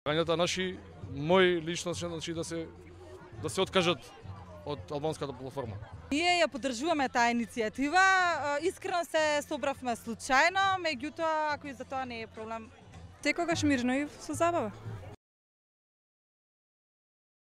Гањата наши, мој лично значи да се откажат од албанската платформа. Ние ја поддржуваме таа иницијатива, искрено се собравме случајно, меѓутоа ако и за тоа не е проблем. Секогаш мирно и со забава.